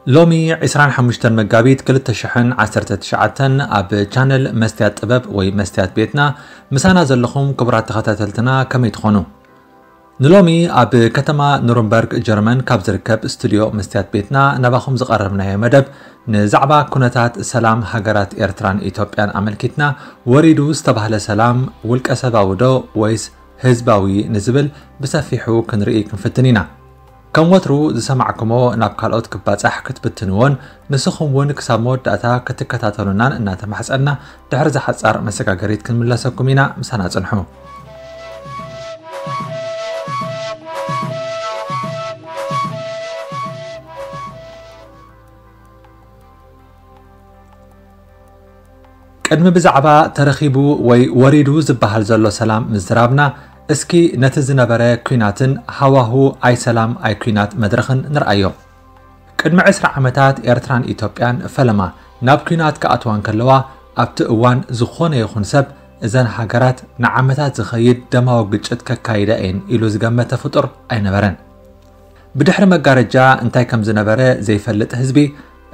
ሎሚ ዕስራን ሓሙሽተን መጋቢት ክልተ ሽሕን ዓሰርተ ትሽዓተን ኣብ ቻነል መስትያት ጥበብ ወይ መስትያት ቤትና ምሳና ዘለኹም ክቡራት ተኸታተልትና ከመይ ትኾኑ? ንሎሚ ኣብ ከተማ ኑርንበርግ ጀርመን ካብ ዝርከብ ስቱድዮ መስትያት ቤትና ናባኹም ዝቐረብናዮ መደብ ንዛዕባ ኩነታት ሰላም ሃገራት ኤርትራን ኢትዮጵያን ኣመልኪትና ወሪዱ ዝተባህለ ሰላም ውልቀ ሰባዊ ዶ ወይስ ህዝባዊ ንዝብል ብሰፊሑ ክንርኢ ክንፍትን ኢና። ከም ወትሩ ዝሰማዕኩሞ ናብ ካልኦት ክባጻሕ ክትብትንዎን ንስኹም እውን ክሳብ መወዳእታ ክትከታተሉናን እናተማሕጸና ድሕሪ ዝሓጻር መሰጋገሪት ክንምለሰኩም ኢና። ምሳና ጽንሑ። ቅድሚ ብዛዕባ ተረኺቡ ወይ ወሪዱ ዝበሃል ዘሎ ሰላም ምዝራብና፣ እስኪ ነቲ ዝነበረ ኲናትን ሃዋሁ ኣይ ሰላም ኣይ ኲናት መድረኽን ንርኣዮ። ቅድሚ ዕስራ ዓመታት ኤርትራን ኢትዮጵያን ፈለማ ናብ ኲናት ክኣትዋ እንከለዋ፣ ኣብቲ እዋን ዝኾነ ይኹን ሰብ እዘን ሃገራት ንዓመታት ዝኸይድ ደማዊ ግጭት ከካይዳ እየን ኢሉ ዝገመተ ፍጡር ኣይነበረን። ብድሕሪ መጋረጃ እንታይ ከም ዝነበረ ዘይፈልጥ ህዝቢ፣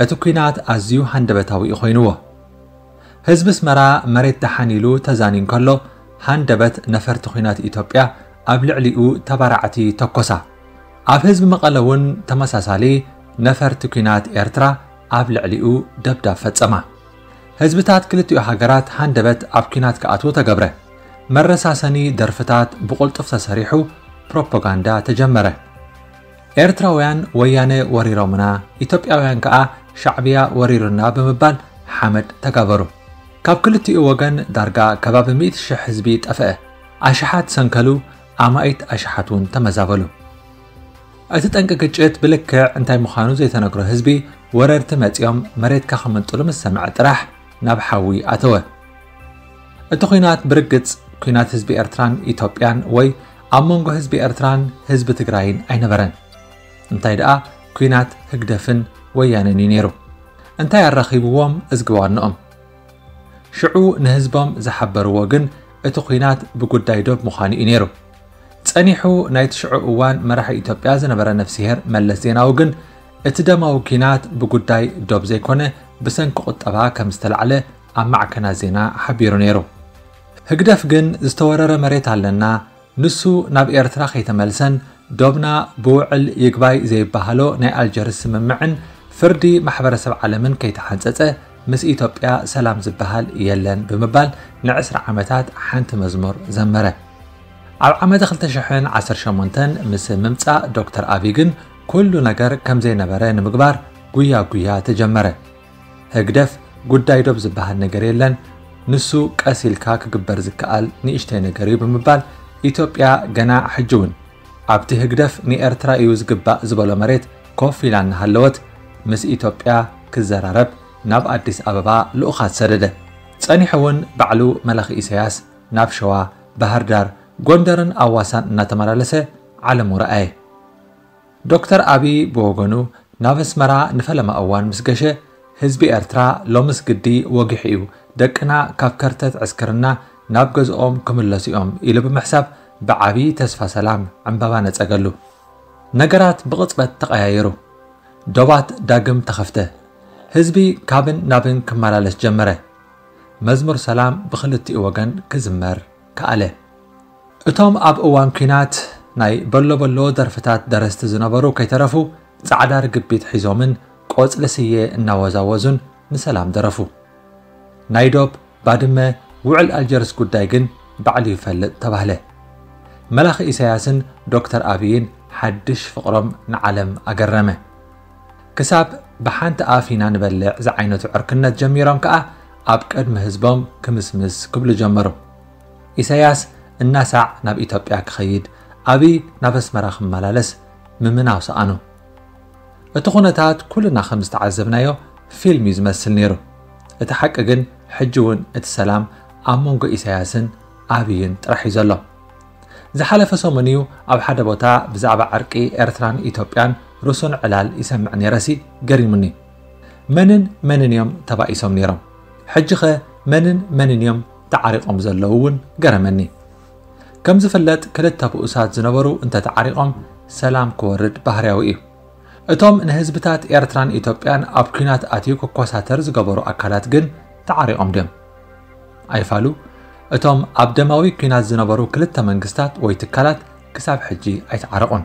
እቲ ኲናት ኣዝዩ ሃንደበታዊ እዩ ኮይንዎ። ህዝቢ ኣስመራ መሬት ደሓን ኢሉ ተዛንዩ እንከሎ፣ ሃንደበት ነፈርቲ ኲናት ኢትዮጵያ ኣብ ልዕሊኡ ተባራዕቲ ተኮሳ። ኣብ ህዝቢ መቐለ እውን ተመሳሳሊ ነፈርቲ ኲናት ኤርትራ ኣብ ልዕሊኡ ደብዳብ ፈጸማ። ህዝብታት ክልቲኡ ሃገራት ሃንደበት ኣብ ኲናት ክኣትዉ ተገብረ። መረሳሰኒ ደርፍታት ብቕልጡፍ ተሰሪሑ፣ ፕሮፓጋንዳ ተጀመረ። ኤርትራውያን ወያነ ወሪሮምና፣ ኢትዮጵያውያን ከኣ ሻዕብያ ወሪሩና ብምባል ሓመድ ተጋበሩ። ካብ ክልቲኡ ወገን ዳርጋ ከባቢ ሚእቲ ሽሕ ህዝቢ ጠፍአ። ኣሽሓት ሰንከሉ፣ ኣማኢት ኣሽሓት እውን ተመዛበሉ። እቲ ጠንቂ ግጭት ብልክዕ እንታይ ምዃኑ ዘይተነግሮ ህዝቢ፣ ወረርቲ መጺኦም መሬትካ ክምንጥሉ ምስ ሰምዐ ጥራሕ ናብ ሓዊ ኣተወ። እቲ ኲናት ብርግጽ ኲናት ህዝቢ ኤርትራን ኢትዮጵያን ወይ ኣብ መንጎ ህዝቢ ኤርትራን ህዝቢ ትግራይን ኣይነበረን። እንታይ ደኣ ኲናት ህግደፍን ወያነን እዩ ነይሩ። እንታይ ኣራኺብዎም እዝጊ ዋንኦም? ሽዑ ንህዝቦም ዝሓበርዎ ግን እቲ ኲናት ብጉዳይ ዶብ ምዃኑ እዩ ነይሩ። ጸኒሑ ናይቲ ሽዑ እዋን መራሒ ኢትዮጵያ ዝነበረ ነፍስሄር መለስ ዜናዊ ግን እቲ ደማዊ ኲናት ብጉዳይ ዶብ ዘይኮነ ብሰንኪ ቁጠባ ከም ዝተላዕለ ኣብ ማዕከናት ዜና ሓቢሩ ነይሩ። ህግደፍ ግን ዝተወረረ መሬት ኣለና፣ ንሱ ናብ ኤርትራ ከይተመልሰን ዶብና ብውዕል ይግባይ ዘይበሃሎ ናይ ኣልጀርስ ስምምዕን ፍርዲ ማሕበረሰብ ዓለምን ከይተሓንጸጸ ምስ ኢትዮጵያ ሰላም ዝበሃል የለን ብምባል ንዕስራ ዓመታት ሓንቲ መዝሙር ዘመረ። ኣብ ዓመተ ክልተ ሽሕን ዓሰርተ ሸሞንተን ምስ ምምጻእ ዶክተር ኣቢ ግን ኩሉ ነገር ከም ዘይነበረ ንምግባር ጉያ ጉያ ተጀመረ። ህግደፍ ጉዳይ ዶብ ዝበሃል ነገር የለን፣ ንሱ ቀስ ኢልካ ክግበር ዝከኣል ንእሽተይ ነገር እዩ ብምባል ኢትዮጵያ ገና ሕጂ እውን ኣብቲ ህግደፍ ንኤርትራ እዩ ዝግባእ ዝበሎ መሬት ኮፍ ኢላ እናሃለወት ምስ ኢትዮጵያ ክዘራረብ ናብ ኣዲስ ኣበባ ልኡኻት ሰደደ። ጸኒሑ እውን ባዕሉ መላኺ ኢሳያስ ናብ ሸዋ፣ ባህር ዳር፣ ጎንደርን ኣዋሳን እናተመላለሰ ዓለሙ ረኣየ። ዶክተር ኣቢ ብወገኑ ናብ ኣስመራ ንፈለማ እዋን ምስ ገሸ፣ ህዝቢ ኤርትራ ሎምስ ግዲ ወጊሑ እዩ፣ ደቅና ካብ ከርተት ዕስክርና ናብ ገዝኦም ክምለሱ እዮም ኢሉ ብምሕሳብ ብዓቢ ተስፋ ሰላም ዕምባባ ነጸገሉ። ነገራት ብቕጽበት ተቐያየሩ። ዶባት ዳግም ተኸፍተ። ህዝቢ ካብን ናብን ክመላለስ ጀመረ። መዝሙር ሰላም ብኽልቲኡ ወገን ክዝመር ከኣለ። እቶም ኣብ እዋን ኲናት ናይ በሎ በሎ ደርፍታት ደረስቲ ዝነበሩ ከይተረፉ ጻዕዳ ርግቢት ሒዞምን ቆጽሊ ስየ እናወዛወዙን ንሰላም ደረፉ። ናይ ዶብ፣ ባድመ፣ ውዕል ኣልጀርስ ጉዳይ ግን ባዕሉ ይፈልጥ ተባህለ። መላኺ ኢሳያስን ዶክተር ኣብይን ሓድሽ ፍቕሮም ንዓለም ኣገረመ። ክሳብ ብሓንቲ ኣፍ ኢና ንበልዕ ዝዓይነቱ ዕርክነት ጀሚሮም ከኣ ኣብ ቅድሚ ህዝቦም ክምስምስ ክብሉ ጀመሩ። ኢሳያስ እናሳዕ ናብ ኢትዮጵያ ክኸይድ፣ ኣብይ ናብ ኣስመራ ክመላለስ ምምናው ሰኣኑ። እቲ ኩነታት ኩልና ከም ዝተዓዘብናዮ ፊልም እዩ ዝመስል ነይሩ። እቲ ሓቂ ግን ሕጂ እውን እቲ ሰላም ኣብ መንጎ ኢሳያስን ኣብይን ጥራሕ እዩ ዘሎ። ዝሓለፈ ሰሙን እዩ ኣብ ሓደ ቦታ ብዛዕባ ዕርቂ ኤርትራን ኢትዮጵያን ርሱን ዕላል ይሰምዕ ነይረሲ ገሪሙኒ። መንን መንን እዮም ተባኢሶም ነይሮም? ሕጂኸ መንን መንን እዮም ተዓሪቖም ዘለዉ እውን ገረመኒ። ከም ዝፍለጥ ክልተ ብኡሳት ዝነበሩ እንተተዓሪቖም ሰላም ክወርድ ባህርያዊ እዩ። እቶም ንህዝብታት ኤርትራን ኢትዮጵያን ኣብ ኲናት ኣትዩ ክኮሳተር ዝገበሩ ኣካላት ግን ተዓሪቖም ድዮም? ኣይፋሉ፣ እቶም ኣብ ደማዊ ኲናት ዝነበሩ ክልተ መንግስታት ወይ ትካላት ክሳብ ሕጂ ኣይተዓረቑን።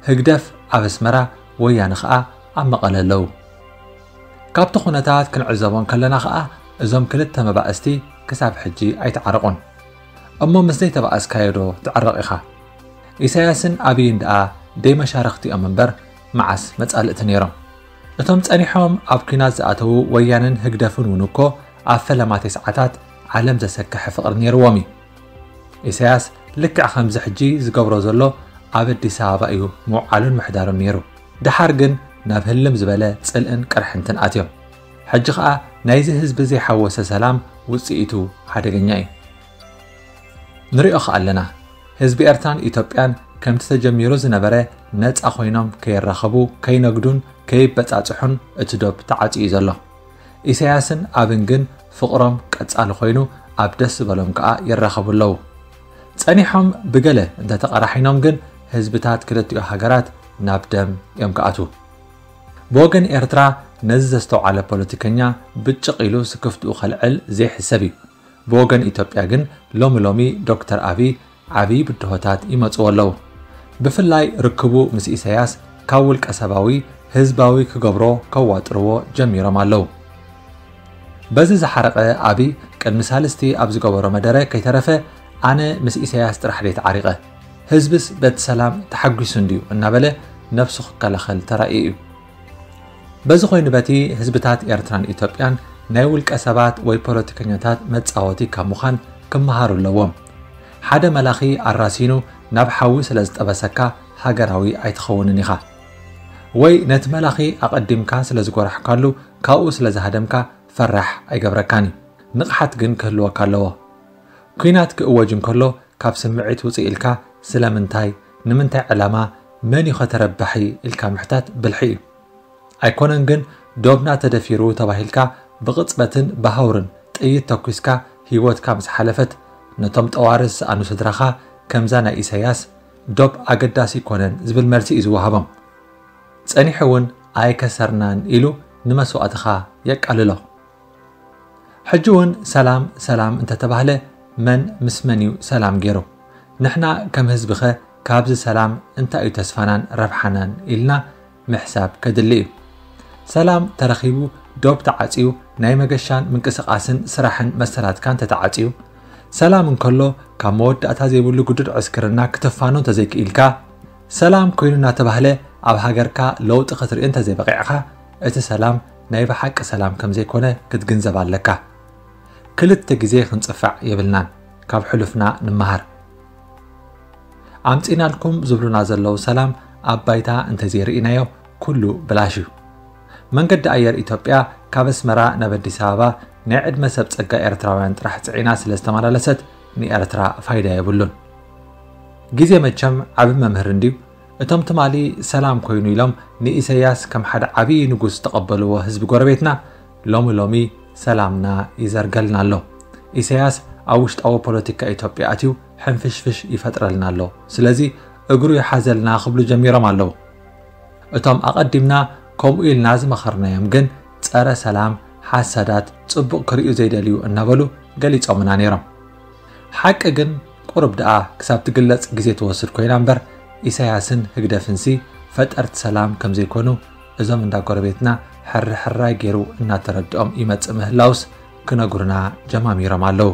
ህግደፍ ኣብ ኣስመራ፣ ወያነ ኸኣ ኣብ መቐለ ኣለዉ። ካብቲ ኩነታት ክንዕዘቦ እንከለና ኸኣ እዞም ክልተ መባእስቲ ክሳብ ሕጂ ኣይተዓረቑን። እሞ ምስ ዘይተባእስካዮ ዶ ትዕረቕ ኢኻ? ኢሳያስን ኣብይን ደኣ ደይ መሻርኽቲ እዮም እምበር መዓስ መጻልእቲ ነይሮም? እቶም ጸኒሖም ኣብ ኲናት ዝኣተዉ ወያነን ህግደፍን እውን እኮ ኣብ ፈለማ ተስዓታት ዓለም ዘሰክሐ ፍቕሪ ነይርዎም እዩ። ኢሳያስ ልክዕ ከምዚ ሕጂ ዝገብሮ ዘሎ ኣብ ኣዲስ ኣበባ እዩ ምውዓሉን ምሕዳሩን ነይሩ። ደሓር ግን ናብ ህልም ዝበለ ጽልእን ቅርሕንትን ኣትዮም። ሕጂ ኸኣ ናይዚ ህዝቢ ዘይሓወሰ ሰላም ውጽኢቱ ሓደገኛ እዩ። ንሪኦ ኸኣ ኣለና፣ ህዝቢ ኤርትራን ኢትዮጵያን ከምቲ ተጀሚሩ ዝነበረ ነጻ ኮይኖም ከይራኸቡ፣ ከይነግዱን ከይበጻጽሑን እቲ ዶብ ተዓጽዩ እዩ ዘሎ። ኢሳያስን ኣብን ግን ፍቕሮም ቀጻሊ ኮይኑ ኣብ ደስ ዝበሎም ከኣ ይራኸቡ ኣለዉ። ጸኒሖም ብገለ እንተተቐራሒኖም ግን ህዝብታት ክልቲኡ ሃገራት ናብ ደም እዮም ክኣትዉ። ብወገን ኤርትራ ነዚ ዘስተውዓለ ፖለቲከኛ ብጭቕ ኢሉ ስክፍትኡ ከልዕል ዘይሕሰብ እዩ። ብወገን ኢትዮጵያ ግን ሎሚ ሎሚ ዶክተር ኣብይ ዓብዪ ብድሆታት ይመጽዎ ኣለዉ። ብፍላይ ርክቡ ምስ ኢሳያስ ካብ ውልቀ ሰባዊ ህዝባዊ ክገብሮ ከዋጥርዎ ጀሚሮም ኣለዉ። በዚ ዝሓረቐ ኣብይ ቅድሚ ሳልስቲ ኣብ ዝገበሮ መደረ ከይተረፈ ኣነ ምስ ኢሳያስ ጥራሕ ደይ ተዓሪቐ፣ ህዝብስ በቲ ሰላም ተሓጒሱ እንድዩ እናበለ ነብሱ ክከላኸል ተራእዩ እዩ። በዚ ኮይኑ በቲ ህዝብታት ኤርትራን ኢትዮጵያን ናይ ውልቀ ሰባት ወይ ፖለቲከኛታት መጻወቲ ካብ ምዃን ክመሃሩ ኣለዎም። ሓደ መላኺ ኣራሲኑ ናብ ሓዊ ስለ ዝጠበሰካ ሃገራዊ ኣይትኸውንን ኢኻ። ወይ ነቲ መላኺ ኣቐዲምካ ስለ ዝጎራሕካሉ ካብኡ ስለ ዝሃደምካ ፈራሕ ኣይገብረካን እዩ። ንቕሓት ግን ክህልወካ ኣለዎ። ኲናት ክእወጅ እንከሎ ካብ ስምዒት ውፅእ ኢልካ ስለምንታይ፣ ንምንታይ ዕላማ፣ መን እዩ ኸ ተረባሒ ኢልካ ምሕታት ብልሒ እዩ። ኣይኮነን ግን ዶብና ተደፊሩ ተባሂልካ ብቕፅበትን ብሃውርን ጥይት ተኩስካ ህይወትካ ምስ ሓለፈት ነቶም ጠዋሪ ዝሰኣኑ ስድራኻ ከምዛ ናይ ኢሳያስ ዶብ ኣገዳሲ ኣይኮነን ዝብል መልሲ እዩ ዝወሃቦም። ጸኒሑ እውን ኣይከሰርናን ኢሉ ንመስዋእትኻ የቃልሎ። ሕጂ እውን ሰላም ሰላም እንተተባህለ መን ምስ መን እዩ ሰላም ገይሩ? ንሕና ከም ህዝቢኸ ካብዚ ሰላም እንታይ እዩ ተስፋናን ረብሓናን ኢልና ምሕሳብ ከድሊ እዩ። ሰላም ተረኺቡ ዶብ ተዓጽዩ ናይ መገሻን ምንቅስቓስን ስራሕን መሰላትካን ተተዓጽዩ ሰላም እንከሎ ካብ መወዳእታ ዘይብሉ ግዱድ ዕስክርና ክትፋኖ እንተዘይክኢልካ ሰላም ኮይኑ እናተባህለ ኣብ ሃገርካ ለውጢ ክትርኢ እንተዘይበቒዕኻ እቲ ሰላም ናይ ብሓቂ ሰላም ከምዘይኮነ ክትግንዘብ ኣለካ። ክልተ ግዜ ክንጽፋዕ የብልናን። ካብ ሕሉፍና ንመሃር። ኣምጺናልኩም ዝብሉና ዘለዉ ሰላም ኣብ ባይታ እንተዘይርኢናዮ ኩሉ ብላሽ እዩ። መንገዲ ኣየር ኢትዮጵያ ካብ ኣስመራ ናብ ኣዲስ ኣበባ ናይ ዕድመ ሰብ ጸጋ ኤርትራውያን ጥራሕ ጽዒና ስለ ዝተመላለሰት ንኤርትራ ፋይዳ የብሉን። ግዜ መቸም ዓቢ መምህር እንድዩ። እቶም ትማሊ ሰላም ኮይኑ ኢሎም ንኢሰያስ ከም ሓደ ዓብዪ ንጉስ ዝተቐበልዎ ህዝቢ ጎረቤትና ሎሚ ሎሚ ሰላምና ይዘርገልና ኣሎ። ኢሰያስ ኣብ ውሽጣዊ ፖለቲካ ኢትዮጵያ ኣትዩ ሕንፍሽፍሽ ይፈጥረልና ኣሎ። ስለዚ እግሩ ይሓዘልና ክብሉ ጀሚሮም ኣለዉ። እቶም ኣቐዲምና ከምኡ ኢልና ዝመኸርናዮም ግን ጸረ ሰላም፣ ሓሳዳት፣ ጽቡቕ ክርእዩ ዘይደልዩ እናበሉ ገሊጾምና ነይሮም። ሓቂ ግን ቁሩብ ደኣ ክሳብ ትግለጽ ግዜ ትወስድ ኮይና እምበር ኢሳያስን ህግደፍንሲ ፈጠርቲ ሰላም ከምዘይኮኑ እዞም እንዳ ጎረቤትና ሕርሕራይ ገይሩ እናተረድኦም ይመጽእ ምህላውስ ክነግሩና ጀማሚሮም ኣለዉ።